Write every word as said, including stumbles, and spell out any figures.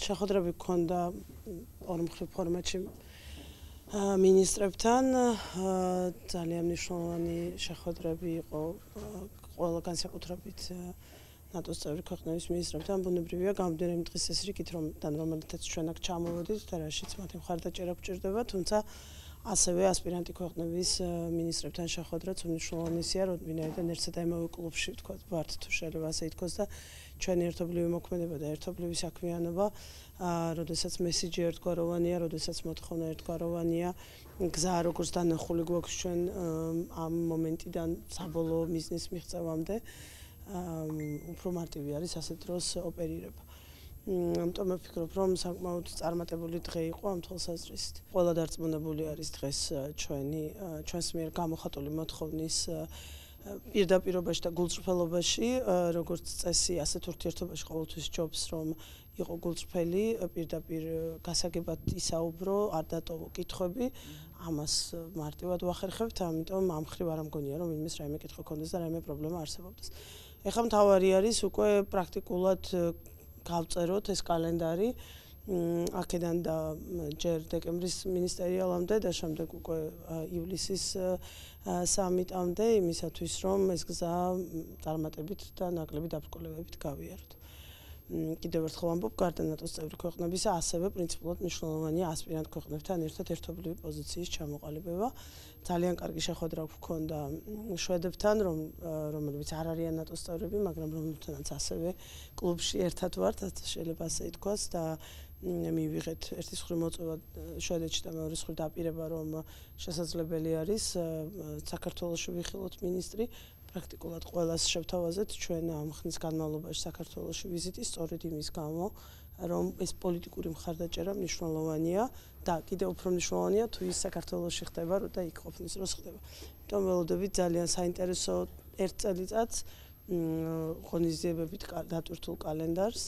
შეხვედრები გქონდა ორმხრივ ფორმატში მინისტრებთან ძალიან მნიშვნელოვანი შეხვედრები იყო ყველა განსაკუთრებით ნატოს წევრი ქვეყნების მინისტრებთან ბუნებრივია გამოდიერი დღის ეს რიგით რომ რომელთაც ჩვენ აქ ჩამოვედით და რაშიც მათი მხარდაჭერა გვჭირდება თუმცა ასევე ასპირანტი ქვეყნების მინისტრებთან შეხვედრაც უმნიშვნელოვანესია ვინაიდან ერთსა და იმავე კლუბში ვთქვათ ვართ თუ შეიძლება ასე ითქვას და ჩვენი ერთობლივი მოქმედება და ერთობლივი საქმიანობა როდესაც მესიჯი ერთგვაროვანია როდესაც მოთხოვნა ერთგვაროვანია გზა როგორც დანახული გვაქვს ჩვენ ამ მომენტიდან საბოლოო მიზნის მიღწევამდე უფრო მარტივი არის ასეთ დროს ოპერირება ამიტომ ვფიქრობ რომ საკმაოდ წარმატებული დღე იყო ამ თვალსაზრისით ყველა დარწმუნებული არის დღეს ჩვენი ჩვენს მიერ გამოხატული მოთხოვნის პირდაპირობაში და გულწრფელობაში როგორც წესი ასეთ ურთიერთობაში ყოველთვის ჯობს რომ იყო გულწრფელი პირდაპირ გასაგებად ისაუბრო არ დატოვო კითხვები ამას მარტივად ვახერხებთ ამიტომ ამ მხრივ არ მგონია რომ ვინმეს რაიმე კითხვა ქონდეს და რაიმე პრობლემა არსებობდეს ეხლა მთავარი არის უკვე პრაქტიკულად გავწეროთ ეს კალენდარი აქედან და ჯერ დეკემბრის მინისტერიალამდე და შემდეგ უკვე ივლისის სამიტამდე იმისათვის რომ ეს გზა წარმატებით და ნაკლები დაბრკოლებებით გავიაროთ. კიდევ ერთხელ ვამბობ, გარდა ნატოს წევრი ქვეყნებისა, ასევე პრინციპულად მნიშვნელოვანია ასპირანტ ქვეყნებთან ერთად ერთობლივი პოზიციის ჩამოყალიბება. ძალიან კარგი შეხვედრა გვქონდა შვედებთან, რომ რომლებიც არ არიან ნატოს წევრები, მაგრამ რომლებთანაც ასევე კლუბში ერთად ვართ, შეიძლება ასე ითქვას და მივიღეთ ერთი მხრივ მოწვევა შვედეთში და მეორე მხრივ დაპირება რომ შესაძლებელი არის საქართველოში ვიხილოთ მინისტრი პრაქტიკულად ყველას შევთავაზეთ ჩვენ ამ ხნის განმავლობაში საქართველოში ვიზიტი სწორედ იმის გამო რომ ეს პოლიტიკური მხარდაჭერა მნიშვნელოვანია და კიდევ უფრო მნიშვნელოვანია თუ ის საქართველოში ხდება და იქ ყოფნის დროს ხდება. ამიტომ ველოდებით ძალიან საინტერესო ერთ წელიწადს ღონისძიებებით დატვირთულ კალენდარს